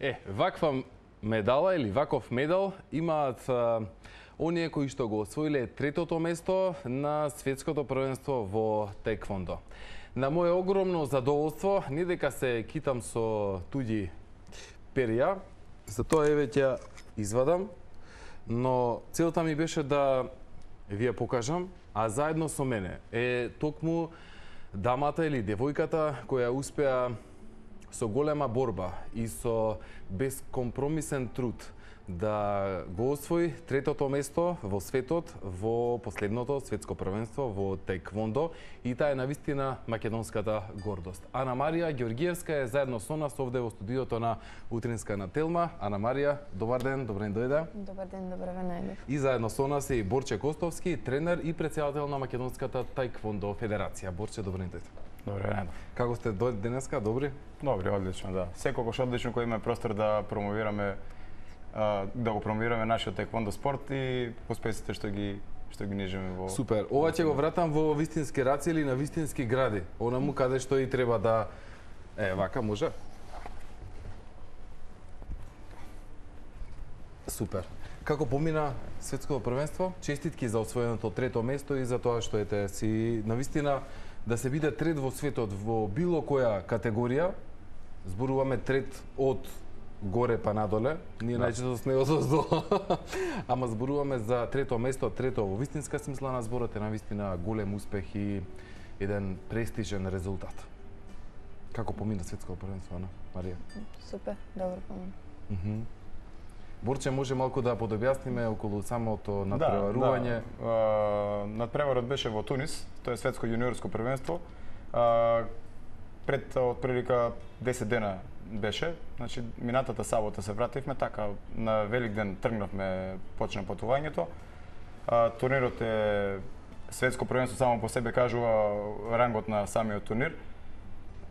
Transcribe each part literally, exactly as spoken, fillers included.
Е, ваква медала или ваков медал имаат а, оние кои што го освоиле третото место на светското првенство во теквондо. На моје огромно задоволство, не дека се китам со туѓи перија, затоа еве ќе извадам, но целта ми беше да ви ја покажам, а заедно со мене е токму дамата или девојката која успеа со голема борба и со безкомпромисен труд да го освои третото место во светот во последното светско првенство во теквондо, и таа е навистина македонската гордост. Ана Марија Ѓоргиевска е заедно со нас овде во студиото на Утринска на Телма. Ана Марија, добар ден, добре ни дојде. Добар ден, добре ве најдов. И заедно со нас е и Борче Костовски, тренер и претседател на Македонската тајквондо федерација. Борче, добре ни дојде. Добре, најдов. Како сте денеска? Добри? Добри, одлично, да. Секогаш одлично кој има простор да промовираме да го промовираме нашиот теквондо спорт и успесите што ги што ги нижиме во. Супер. Ова ќе го вратам во вистински раци или на вистински гради. Онаму каде што и треба да е вака може. Супер. Како помина светското првенство? Честитки за освоеното трето место и за тоа што ете си навистина да се биде трет во светот во било која категорија. Зборуваме трет од горе па надоле, ние да. Најчесто сме одоздолу, ама зборуваме за трето место, трето во вистинска смисла на зборот е навистина голем успех и еден престижен резултат. Како помина светското првенство, Ана Марија? Супер, добро помина. Mm -hmm. Борче, може малку да подобјасниме околу самото надпреварување? Да, да. Надпреварот беше во Тунис, тоа е светско јуниорско првенство. А, пред отприлика десет дена беше, значи минатата сабота се вративме, така на Великден тргнавме, почна патувањето. А, турнирот е светско првенство, само по себе кажува рангот на самиот турнир.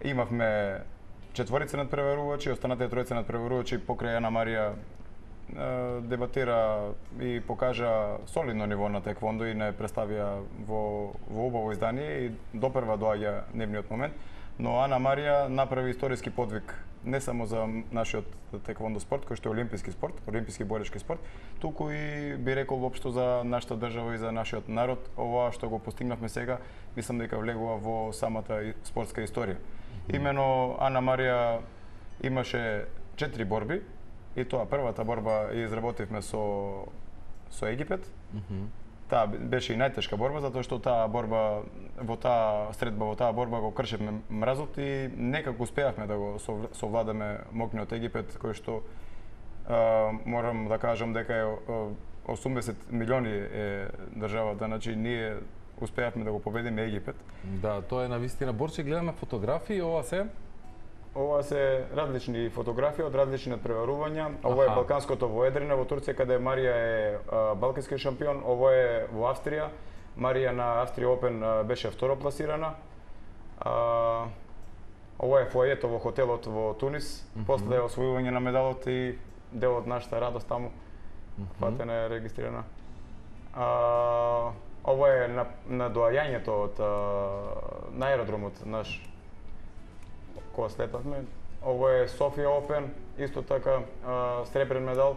Имавме четворица надпреварувачи, останатите тројца надпреварувачи покрај Ана Марија дебатира и покажа солидно ниво на теквондо и не представија во во убаво издание и допрва доаѓа нивниот момент. Но Ана Марија направи историски подвиг не само за нашиот теквондо спорт, кој што е олимписки спорт, олимписки боречки спорт, туку и би рекол воопшто за нашата држава и за нашиот народ. Ова што го постигнавме сега, мислам дека влегува во самата спортска историја. Mm-hmm. Имено Ана Марија имаше четири борби, и тоа првата борба ја изработивме со со Египет. Mm-hmm. Таа беше и најтешка борба, затоа што таа борба, во таа средба, во таа борба го кршевме мразот и некако успеавме да го совладаме мокниот Египет, кој што а, морам да кажам дека е осумдесет милиони е државата, значи ние успеавме да го победиме Египет. Да, тоа е навистина. Борче, гледаме фотографии, ова се? Ова се различни фотографии од различни надпреварувања. Ова е Балканското во Едрина во Турција, каде Марија е а, балкански шампион. Ова е во Австрија. Марија на Австрија Опен а, беше второ пласирана. А, ова е фојето во хотелот во Тунис. Mm -hmm. После освојување на медалот и дел од нашата радост таму. Mm -hmm. Фатена е регистрирана. А, ова е на, на доаѓањето од а, на аеродромот наш кога слетавме. Ово е Софија Опен, исто така а, сребрен медал.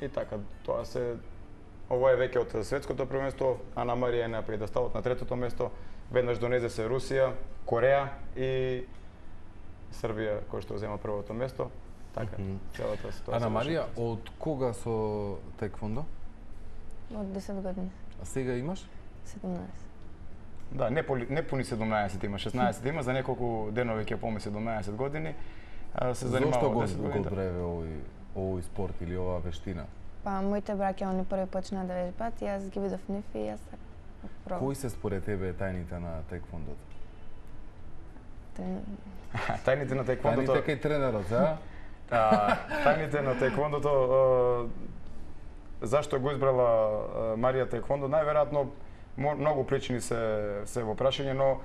И така, тоа се ово е веќе од светското првенство. Ана Марија е на педесталот на третото место. Веднаш донесе се Русија, Кореја и Србија кој што зема првото место. Така, mm -hmm. целата ситуација. Ана Марија, од кога со теквондо? Од десет години. А сега имаш? седумнаесет. Да, не, поли, не пуни седумнаесет има, шеснаесет има, за неколку денови ќе поми седумнаесет години. А, се занимава Зошто го, десет години. го праве овој, овој спорт или оваа вештина? Па, моите браќа, они први почнаа да вежбаат, јас ги видов нив и јас пробав. Кои се според тебе тајните на теквондото? Трен... Тајните на теквондото... Тајните кај тренерот, а? а тајните на теквондото... А, зашто го избрала Марија теквондо? Најверојатно многу причини се се во прашање, но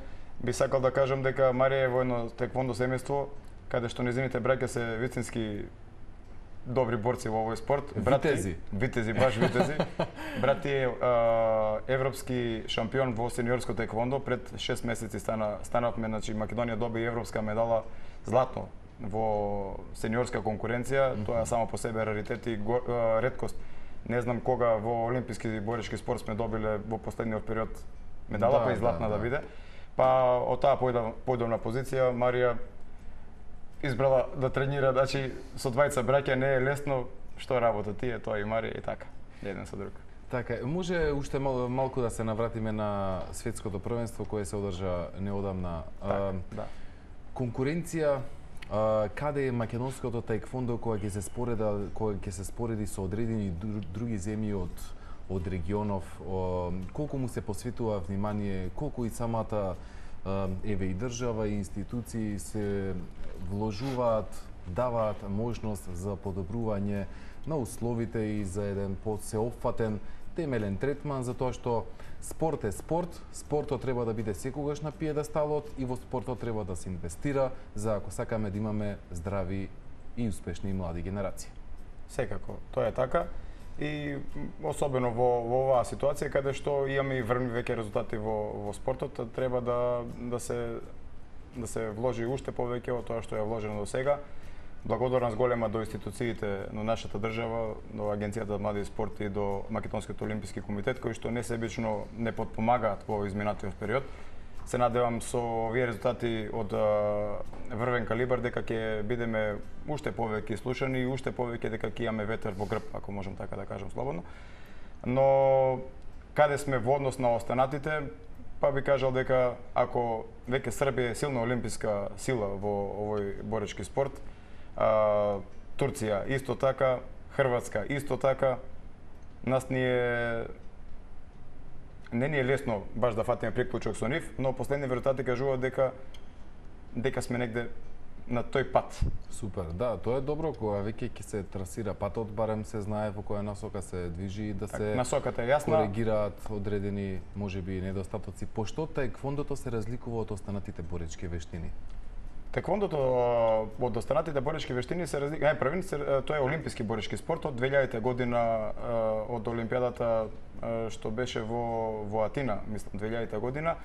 би сакал да кажам дека Марија е во едно теквондо семејство каде што незините браќа се вистински добри борци во овој спорт. Витези. Витези, баш витези. Брат е а, европски шампион во сениорско теквондо. Пред шест месеци стана станавме, значи Македонија доби европска медала златно во сениорска конкуренција, mm -hmm. тоа е само по себе раритет и го, а, реткост. Не знам кога во олимписки и борички спорт сме добиле во последниот период медала, да, па и златна да, да, да биде. Па од таа појдовна позиција Марија избрала да тренира, значи со двајца браќа не е лесно, што работа тие, тоа и Марија и така, еден со друг. Така, може уште мал, малку да се навратиме на светското првенство кое се одржа неодамна. Так, а, да. Конкуренција, а, каде е македонското таеквондо кога ќе се спореда, кога ќе се спореди со одредени други земји од од регионов, о, колку му се посветува внимание, колку и самата а, еве и држава и институции се вложуваат, даваат можност за подобрување на условите и за еден посеопфатен темелен третман, за тоа што спорт е спорт, спортот треба да биде секогаш на пиедесталот и во спортот треба да се инвестира за ако сакаме да имаме здрави и успешни млади генерации. Секако, тоа е така. И особено во, во оваа ситуација каде што имаме и врвни веќе резултати во, во спортот, треба да, да се да се вложи уште повеќе од тоа што е вложено до сега. Благодарност голема до институциите на нашата држава, до Агенцијата за млади спорт и до Македонскиот олимписки комитет, кои што несебично не подпомагаат во изминатиот период. Се надевам со овие резултати од врвен калибар дека ќе бидеме уште повеќе слушани и уште повеќе дека ќе имаме ветер во грб, ако можам така да кажам слободно. Но каде сме во однос на останатите, па би кажал дека ако веќе Србија е силна олимписка сила во овој боречки спорт, а, Турција исто така, Хрватска исто така, нас ни е не ни е лесно баш да фатиме приклучок со нив, но последни резултати кажуваат дека дека сме негде на тој пат. Супер, да, тоа е добро кога веќе ќе се трасира патот, барем се знае во која насока се движи и да так, се насоката е јасна, коригираат одредени можеби недостатоци. Пошто таеквондото се разликува од останатите боречки вештини? Таеквондото од останатите боречки вештини се разликува. Најпрвен тоа е олимписки боречки спорт од две илјадета година од олимпијадата што беше во во Атина, мислам две илјадета година.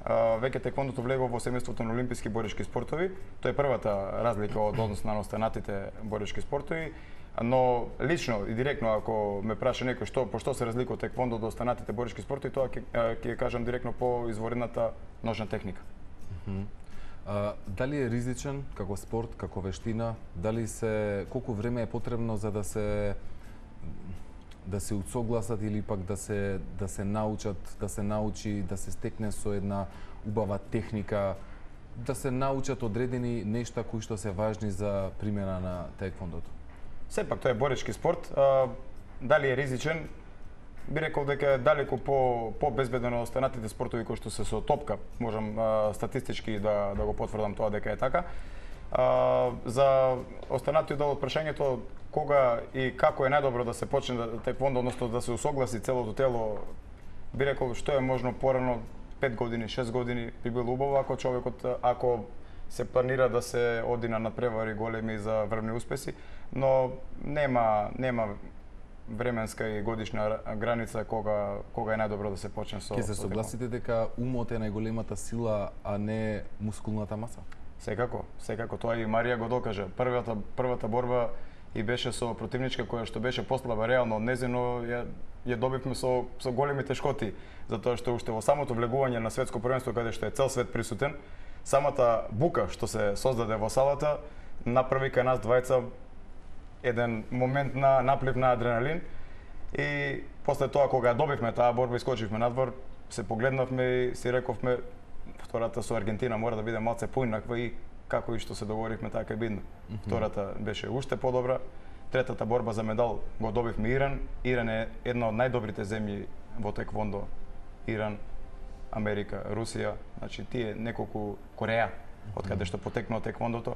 Веќе таеквондото влегува во семејството на олимписки боречки спортови. Тоа е првата разлика од однос на останатите боречки спортови. Но лично и директно ако ме праша некој што по што се разликува таеквондо од останатите боречки спортови, тоа ќе ќе кажам директно по изворената ножна техника. Mm -hmm. А, дали е ризичен како спорт, како вештина? Дали се колку време е потребно за да се да се усогласат или пак да се да се научат, да се научи, да се стекне со една убава техника, да се научат одредени нешта кои што се важни за примена на таеквондото? Сепак тоа е боречки спорт. А, дали е ризичен? Би рекол дека е далеку по по безбеден од останатите спортови кои што се со топка. Можам а, статистички да да го потврдам тоа дека е така. А, за останатиот дел од прашањето кога и како е најдобро да се почне да таеквондо, односно да се усогласи целото тело, би рекол што е можно порано пет години, шест години би било убаво ако човекот ако се планира да се оди на надпревари големи за врвни успеси, но нема нема временска и годишна граница кога кога е најдобро да се почне со. Ке се согласите дека умот е најголемата сила, а не мускулната маса? Секако, секако тоа и Марија го докажа. Првата првата борба и беше со противничка која што беше послаба реално од незино, ја, ја добивме со со големи тешкоти, затоа што уште во самото влегување на светско првенство каде што е цел свет присутен, самата бука што се создаде во салата направи кај нас двајца еден момент на наплив на адреналин и после тоа кога добивме таа борба и искочивме надвор, се погледнавме и си рековме втората со Аргентина мора да биде малце поинаква и како и што се договоривме така е бидно. Mm -hmm. Втората беше уште подобра. Третата борба за медал го добивме Иран. Иран е една од најдобрите земји во таеквондо. Иран, Америка, Русија, значи тие неколку Кореја, од каде што потекнува таеквондото.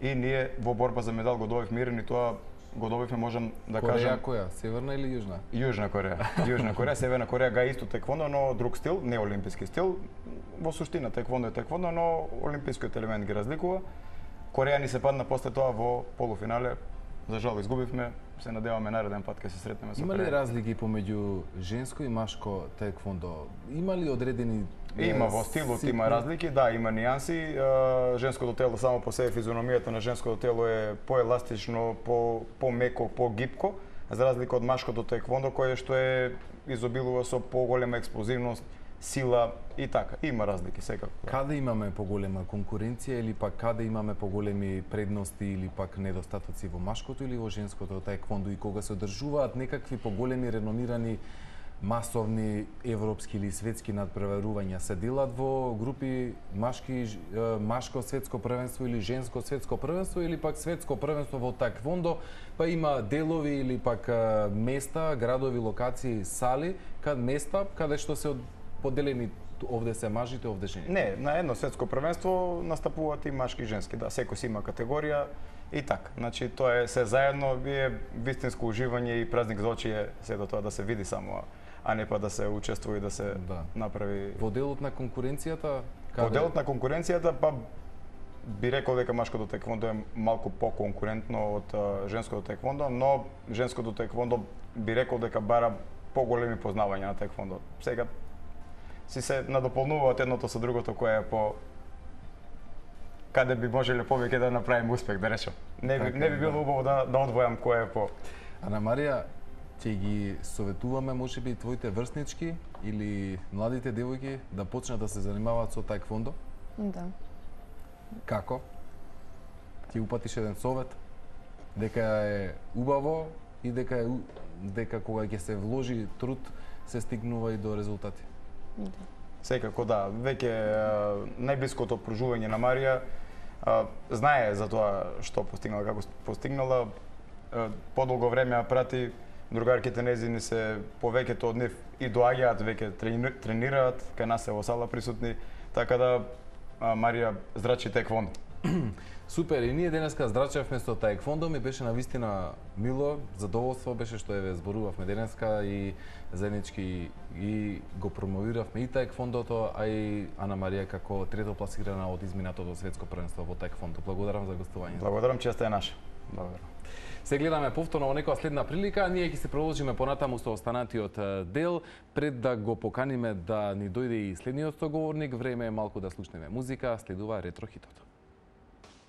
И ние во борба за медал го добивме Иран и тоа го добивме, можам да Кореја, кажам... која? Северна или јужна? Јужна Кореја. Јужна Кореја, Северна Кореја га исто таеквондо, но друг стил, не олимписки стил. Во суштина таеквондо е таеквондо, но олимпискиот елемент ги разликува. Кореја ни се падна после тоа во полуфинале За жал изгубивме, се надеваме нареден пат ќе се сретнеме со Има ли разлики помеѓу женско и машко таеквондо? Има ли одредени Има во стилот, има разлики, да, има нијанси. Женското тело само по себе, физиономијата на женското тело е поеластично, по помеко, погипко, за разлика од машкото таеквондо кое што е изобилува со поголема експлозивност, сила и така. Има разлики секако. Каде имаме поголема конкуренција или пак каде имаме поголеми предности или пак недостатоци во машкото или во женското таеквондо и кога се одржуваат некакви поголеми реномирани масовни европски или светски надпреварувања, се делат во групи машки, машко светско првенство или женско светско првенство или пак светско првенство во таеквондо, па има делови или пак места, градови, локации, сали, кад места каде што се поделени овде се мажите, овде жените? Не, на едно светско првенство настапуваат и машки и женски, да, секој си има категорија и така. Значи тоа е се заедно, е вистинско уживање и празник за очи се до тоа да се види само, а не па да се учествува и да се да. направи. Во делот на конкуренцијата, каде... Во делот на конкуренцијата, па би рекол дека машкото таеквондо е малку поконкурентно од женското таеквондо, но женското таеквондо би рекол дека бара поголеми познавања на таеквондо. Сега си се надополнуваат едното со другото кое е по каде би можеле повеќе да направиме успех, да речем. Не би, не би било убаво да, да одвојам кое е по... Ана Марија, ќе ги советуваме можеби твоите врснички или младите девојки да почнат да се занимаваат со таеквондо? Да. Како? Ти упатиш еден совет дека е убаво и дека е дека кога ќе се вложи труд се стигнува и до резултати. Да. Секако да, веќе најблиското окружување на Марија а, знае за тоа што постигнала, како постигнала. А, подолго време ја прати, другарките незини се повеќето од нив и доаѓаат веќе тренираат, кај нас се во сала присутни, така да а, Марија здрачи таеквондо. Супер, и ние денеска здрачевме со таеквондо, ми беше навистина мило, задоволство беше што еве зборувавме денеска и заеднички и го промовиравме и таеквондото, а и Ана Марија како трето пласирана од изминатото светско првенство во таеквондо. Благодарам за гостувањето. Благодарам, честа е наша. Благодарам. Се гледаме повторно во некоја следна прилика, ние ќе се продолжиме понатаму со останатиот дел. Пред да го поканиме да ни дојде и следниот соговорник, време е малку да слушнеме музика, следува ретро хитот.